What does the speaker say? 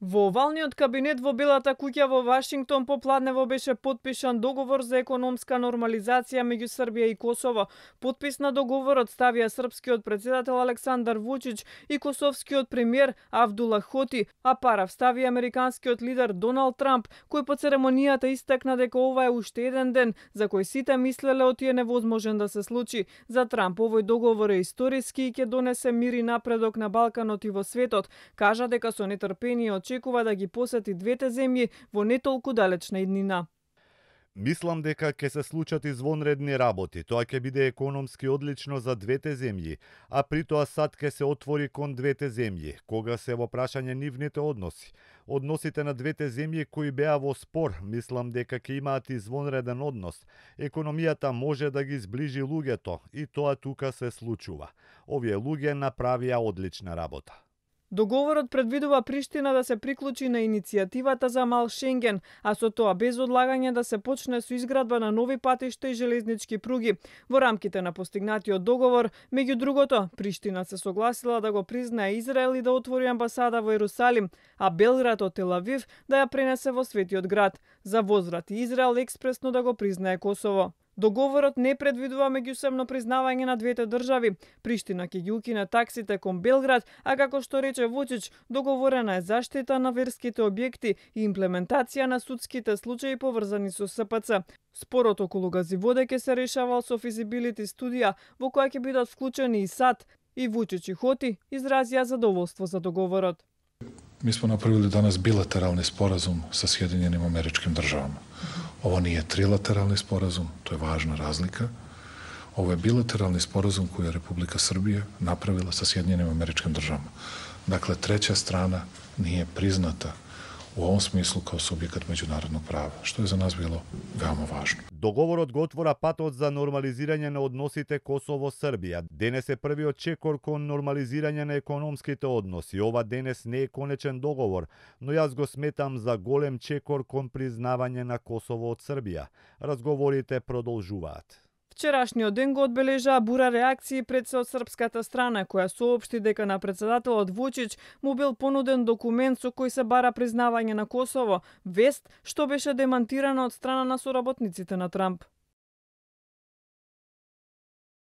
Во овалниот кабинет во Белата куќа во Вашингтон попладнево беше потпишан договор за економска нормализација меѓу Србија и Косово. Потпис на договорот ставија српскиот претседател Александар Вучич и косовскиот премиер Авдула Хоти, а парав стави американскиот лидер Доналд Трамп, кој по церемонијата истакна дека ова е уште еден ден за кој сите мислеле отие невозможен да се случи. За Трамп овој договор е историски и ќе донесе мир и напредок на Балканот и во светот. Кажа дека со нетрпение очекува да ги посети двете земји во не толку далечна иднина. Мислам дека ќе се случат извонредни работи. Тоа ќе биде економски одлично за двете земји, а при тоа САД ќе се отвори кон двете земји, кога се во прашање нивните односи. Односите на двете земји кои беа во спор, мислам дека ќе имаат извонреден однос. Економијата може да ги зближи луѓето и тоа тука се случува. Овие луѓе направија одлична работа. Договорот предвидува Приштина да се приклучи на иницијативата за мал Шенген, а со тоа без одлагање да се почне со изградба на нови патишта и железнички пруги. Во рамките на постигнатиот договор, меѓу другото, Приштина се согласила да го признае Израел и да отвори амбасада во Ерусалим, а Белград од Тел Авив да ја пренесе во Светиот град. За возврат и Израел експресно да го признае Косово. Договорот не предвидува меѓусебно признавање на двете држави. Приштина ќе ги укине таксите кон Белград, а како што рече Вучич, договорена е заштита на верските објекти и имплементација на судските случаи поврзани со СПЦ. Спорот околу газиводе ќе се решавал со физибилити студија, во која ќе бидат вклучени и САД. И Вучич и Хоти изразија задоволство за договорот. Mi smo napravili danas bilateralni sporazum sa Sjedinjenim Američkim Državama. Ovo nije trilateralni sporazum, to je važna razlika. Ovo je bilateralni sporazum koji je Republika Srbija napravila sa Sjedinjenim Američkim Državama. Dakle, treća strana nije priznata u ovom smislu kao subjekat međunarodnog prava, što je za nas bilo veoma važno. Договорот го отвора патот за нормализирање на односите Косово-Србија. Денес е првиот чекор кон нормализирање на економските односи. Ова денес не е конечен договор, но јас го сметам за голем чекор кон признавање на Косово од Србија. Разговорите продолжуваат. Вчерашниот ден го одбележаа бура реакции пред се од српската страна, која соопшти дека на претседателот Вучич му бил понуден документ со кој се бара признавање на Косово, вест што беше демантирана од страна на соработниците на Трамп.